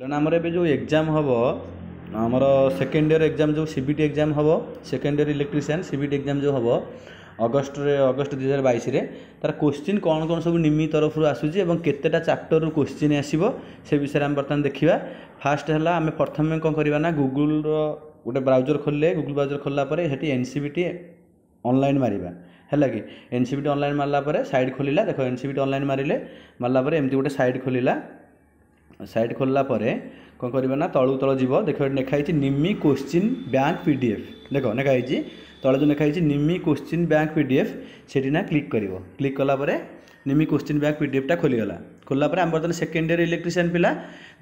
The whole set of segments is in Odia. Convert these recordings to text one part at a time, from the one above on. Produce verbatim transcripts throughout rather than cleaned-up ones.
କାରଣ ଆମର ଏବେ ଯେଉଁ ଏକ୍ଜାମ୍ ହେବ ଆମର ସେକେଣ୍ଡ ଇୟର୍ ଏକ୍ଜାମ୍ ଯେଉଁ ସି ବି ଟି ଏକ୍ଜାମ୍ ହେବ second year electrician C B ଟି ଏକ୍ଜାମ୍ ଯେଉଁ ହେବ ଅଗଷ୍ଟରେ ଅଗଷ୍ଟ ଦୁଇ ହଜାର ବାଇଶରେ ତା'ର କୋଶ୍ଚିନ୍ କ'ଣ କ'ଣ ସବୁ ନିମି ତରଫରୁ ଆସୁଛି ଏବଂ କେତେଟା ଚାପ୍ଟରରୁ କୋଶ୍ଚିନ୍ ଆସିବ ସେ ବିଷୟରେ ଆମେ ବର୍ତ୍ତମାନ ଦେଖିବା ଫାଷ୍ଟ ହେଲା ଆମେ ପ୍ରଥମେ କ'ଣ କରିବା ନା ଗୁଗୁଲର ଗୋଟେ ବ୍ରାଉଜର ଖୋଲିଲେ ଗୁଗୁଲ ବ୍ରାଉଜର ଖୋଲିଲା ପରେ ସେଠି N C V T online ମାରିବା ହେଲା କି N C V ଟି ଅନଲାଇନ୍ ମାରିଲା ପରେ ସାଇଟ୍ ଖୋଲିଲା ଦେଖ ଏନ୍ ସି ଭି ଟି ଅନଲାଇନ୍ ମାରିଲେ ମାରିଲା ପରେ ଏମିତି ଗୋଟେ ସାଇଟ୍ ଖୋଲିଲା ସାଇଟ୍ ଖୋଲିଲା ପରେ କ'ଣ କରିବା ନା ତଳକୁ ତଳ ଯିବ ଦେଖ ଏଠି ଲେଖା ହେଇଛି Nimmi question bank P D F ଦେଖ ଲେଖା ହେଇଛି ତଳେ ଯେଉଁ ଲେଖା ହେଇଛି Nimmi question bank P D F ସେଠି ନା କ୍ଲିକ୍ କରିବ କ୍ଲିକ୍ କଲା ପରେ ନିମି କୋଶ୍ଚିନ୍ ବ୍ୟାଙ୍କ ପି ଡି ଏଫ୍ଟା ଖୋଲିଗଲା ଖୋଲିଲା ପରେ ଆମେ ବର୍ତ୍ତମାନ ସେକେଣ୍ଡ ଇୟର୍ ଇଲେକ୍ଟ୍ରିସିଆନ୍ ପିଲା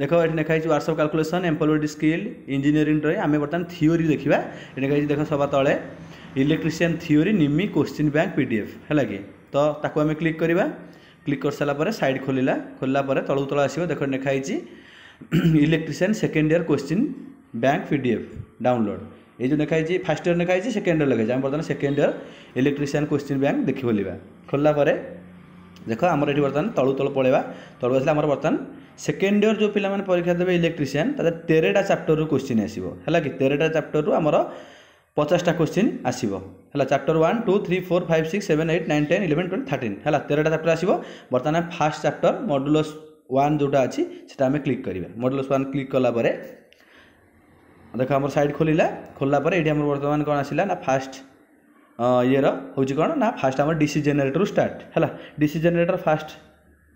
ଦେଖ ଏଠି ଲେଖା ହେଇଛି workshop calculation employability skill engineering drawing ଆମେ ବର୍ତ୍ତମାନ ଥିଓରି ଦେଖିବା ଏଠି ଲେଖା ହେଇଛି ଦେଖ ସବା ତଳେ electrician theory Nimmi question bank P D F ହେଲା କି ତ ତାକୁ ଆମେ କ୍ଲିକ୍ କରିବା କ୍ଲିକ୍ କରିସାରିଲା ପରେ ସାଇଟ୍ ଖୋଲିଲା ଖୋଲିଲା ପରେ ତଳକୁ ତଳ ଆସିବ ଦେଖ ଲେଖା ହେଇଛି electrician second year question bank P D F download ଏଇ ଯେଉଁ ଲେଖା ହେଇଛି ଫାର୍ଷ୍ଟ ଇୟର୍ ଲେଖା ହେଇଛି ସେକେଣ୍ଡ ଇୟର୍ ଲେଖା ହେଇଛି ଆମେ ବର୍ତ୍ତମାନ second year electrician question bank ଦେଖି ଖୋଲିବା ଖୋଲିଲା ପରେ ଦେଖ ଆମର ଏଠି ବର୍ତ୍ତମାନ ତଳୁ ତଳ ପଳେଇବା ତଳୁ ଆସିଲେ ଆମର ବର୍ତ୍ତମାନ ସେକେଣ୍ଡ ଇୟର୍ ଯେଉଁ ପିଲାମାନେ ପରୀକ୍ଷା ଦେବେ ଇଲେକ୍ଟ୍ରିସିଆନ୍ ତାଦେହରେ ତେରଟା ଚାପ୍ଟରରୁ କୋଶ୍ଚିନ୍ ଆସିବ ହେଲା କି ତେରଟା ଚାପ୍ଟରରୁ ଆମର ପଚାଶଟା କୋଶ୍ଚିନ୍ ଆସିବ ହେଲା chapter one two three four five six seven eight nine ten eleven twelve thirteen ହେଲା ତେରଟା ଚାପ୍ଟର ଆସିବ ବର୍ତ୍ତମାନ ଫାର୍ଷ୍ଟ ଚାପ୍ଟର ମଡୁଲସ୍ ୱାନ୍ ଯେଉଁଟା ଅଛି ସେଟା ଆମେ କ୍ଲିକ୍ କରିବା ମଡୁଲସ୍ ୱାନ୍ କ୍ଲିକ୍ କଲା ପରେ ଦେଖ ଆମର ସାଇଟ୍ ଖୋଲିଲା ଖୋଲିଲା ପରେ ଏଇଠି ଆମର ବର୍ତ୍ତମାନ କ'ଣ ଆସିଲା ନା ଫାଷ୍ଟ ଇଏର ହେଉଛି କ'ଣ ନା ଫାଷ୍ଟ ଆମର ଡିସି ଜେନେରେଟରରୁ ଷ୍ଟାର୍ଟ ହେଲା ଡିସି ଜେନେରେଟର ଫାଷ୍ଟ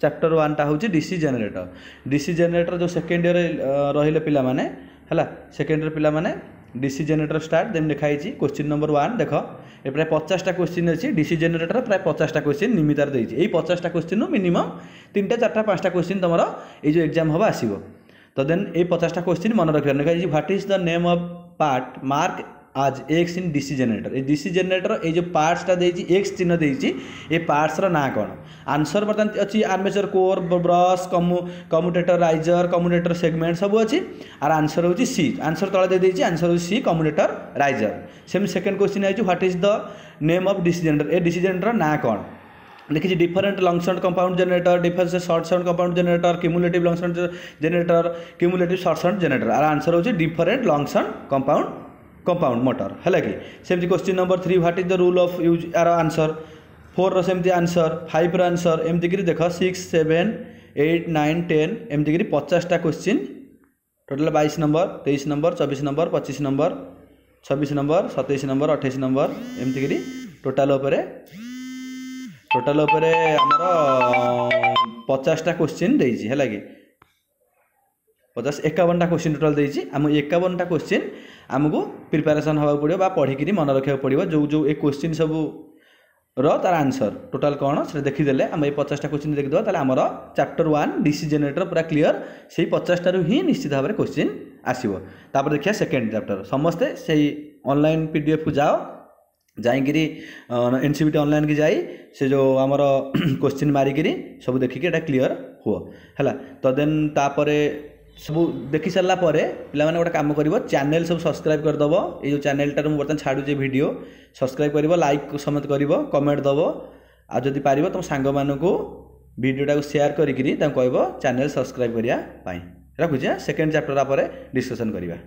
ଚାପ୍ଟର ୱାନ୍ଟା ହେଉଛି ଡିସି ଜେନେରେଟର ଡିସି ଜେନେରେଟର ଯେଉଁ ସେକେଣ୍ଡ ଇୟର ରହିଲେ ପିଲାମାନେ ହେଲା ସେକେଣ୍ଡ ଇୟର ପିଲାମାନେ ଡିସି ଜେନେରେଟର ଷ୍ଟାର୍ଟ ଦେନ୍ ଲେଖା ହେଇଛି କୋଶ୍ଚିନ୍ ନମ୍ବର ୱାନ୍ ଦେଖ ଏ ପ୍ରାୟ ପଚାଶଟା କୋଶ୍ଚିନ୍ ଅଛି ଡିସି ଜେନେରେଟର ପ୍ରାୟ ପଚାଶଟା କୋଶ୍ଚିନ୍ ନିମି ତାର ଦେଇଛି ଏଇ ପଚାଶଟା କୋଶ୍ଚିନ୍ରୁ ମିନିମମ୍ ତିନିଟା ଚାରିଟା ପାଞ୍ଚଟା କୋଶ୍ଚିନ୍ ତୁମର ଏଇ ଯେଉଁ ଏକ୍ଜାମ୍ ହେବ ଆସିବ ତ ଦେନ୍ ଏଇ ପଚାଶଟା କୋଶ୍ଚିନ୍ ମନେ ରଖିବାର ଲେଖା ହେଇଛି what is the name of part mark as X in DC generator ଏଇ ଡିସି ଜେନେରେଟର ଏଇ ଯେଉଁ ପାର୍ଟସଟା ଦେଇଛି ଏକ୍ସ ଚିହ୍ନ ଦେଇଛି ଏ ପାର୍ଟସର ନାଁ କ'ଣ ଆନ୍ସର ବର୍ତ୍ତମାନ ଅଛି armature core brush commu commutator riser commutator segment ସବୁ ଅଛି ଆର ଆନ୍ସର ହେଉଛି ସି ଆନ୍ସର ତଳେ ଦେଇଦେଇଛି ଆନ୍ସର ହେଉଛି ସି କମ୍ୟୁଟେଟର ରାଇଜର ସେମିତି ସେକେଣ୍ଡ କୋଶ୍ଚିନ୍ ଆଇଛି what is the name of DC generator A DC generator ନାଁ କ'ଣ ଦେଖିଛି different long shunt compound generator different short shunt compound generator cumulative long shunt generator cumulative short shunt generator ଆର ଆନ୍ସର ହେଉଛି different long shunt compound compound motor ହେଲା କି ସେମିତି question number three what is the rule of use are answer ଫୋର୍ର ସେମିତି ଆନ୍ସର ଫାଇଭ୍ର ଆନ୍ସର ଏମିତିକିରି ଦେଖ six seven eight nine ten ଏମିତିକିରି ପଚାଶଟା କୋଶ୍ଚିନ୍ ଟୋଟାଲ୍ ବାଇଶ ନମ୍ବର ତେଇଶ ନମ୍ବର ଚବିଶ ନମ୍ବର ପଚିଶ ନମ୍ବର ଛବିଶ ନମ୍ବର ସତେଇଶ ନମ୍ବର ଅଠେଇଶ ନମ୍ବର ଏମିତିକିରି ଟୋଟାଲ୍ ଉପରେ ଟୋଟାଲ୍ ଉପରେ ଆମର ପଚାଶଟା କୋଶ୍ଚିନ୍ ଦେଇଛି ହେଲା କି ପଚାଶ ଏକାବନଟା କୋଶ୍ଚିନ୍ ଟୋଟାଲ୍ ଦେଇଛି ଆମ ଏକାବନଟା କୋଶ୍ଚିନ୍ ଆମକୁ ପ୍ରିପାରେସନ୍ ହେବାକୁ ପଡ଼ିବ ବା ପଢ଼ିକିରି ମନେ ରଖିବାକୁ ପଡ଼ିବ ଯେଉଁ ଯେଉଁ ଏ କୋଶ୍ଚିନ୍ ସବୁ ର ତାର ଆନ୍ସର ଟୋଟାଲ୍ କ'ଣ ସେଟା ଦେଖିଦେଲେ ଆମେ ଏଇ ପଚାଶଟା କୋଶ୍ଚିନ୍ ଦେଖିଦେବା ତାହେଲେ ଆମର ଚାପ୍ଟର ୱାନ୍ ଡିସି ଜେନେରେଟର ପୁରା କ୍ଲିଅର ସେଇ ପଚାଶଟାରୁ ହିଁ ନିଶ୍ଚିତ ଭାବରେ କୋଶ୍ଚିନ୍ ଆସିବ ତାପରେ ଦେଖିବା ସେକେଣ୍ଡ ଚାପ୍ଟର ସମସ୍ତେ ସେଇ ଅନଲାଇନ୍ ପି ଡି ଏଫ୍କୁ ଯାଅ ଯାଇକିରି ଏନ୍ ସି ଭି ଟି ଅନଲାଇନ୍କି ଯାଇ ସେ ଯେଉଁ ଆମର କୋଶ୍ଚିନ୍ ମାରିକିରି ସବୁ ଦେଖିକି ଏଇଟା କ୍ଲିଅର ହୁଅ ହେଲା ତ ଦେନ୍ ତାପରେ ସବୁ ଦେଖି ସାରିଲା ପରେ ପିଲାମାନେ ଗୋଟେ କାମ କରିବ ଚ୍ୟାନେଲ୍ ସବୁ ସବସ୍କ୍ରାଇବ୍ କରିଦେବ ଏଇ ଯେଉଁ ଚ୍ୟାନେଲ୍ଟାରେ ମୁଁ ବର୍ତ୍ତମାନ ଛାଡ଼ୁଛି ଭିଡ଼ିଓ ସବସ୍କ୍ରାଇବ୍ କରିବ ଲାଇକ୍ ସମସ୍ତେ କରିବ କମେଣ୍ଟ ଦେବ ଆଉ ଯଦି ପାରିବ ତୁମ ସାଙ୍ଗମାନଙ୍କୁ ଭିଡ଼ିଓଟାକୁ ସେୟାର କରିକିରି ତାଙ୍କୁ କହିବ ଚ୍ୟାନେଲ୍ ସବସ୍କ୍ରାଇବ୍ କରିବା ପାଇଁ ରଖୁଛି ସେକେଣ୍ଡ ଚାପ୍ଟର ପରେ ଡିସ୍କସନ୍ କରିବା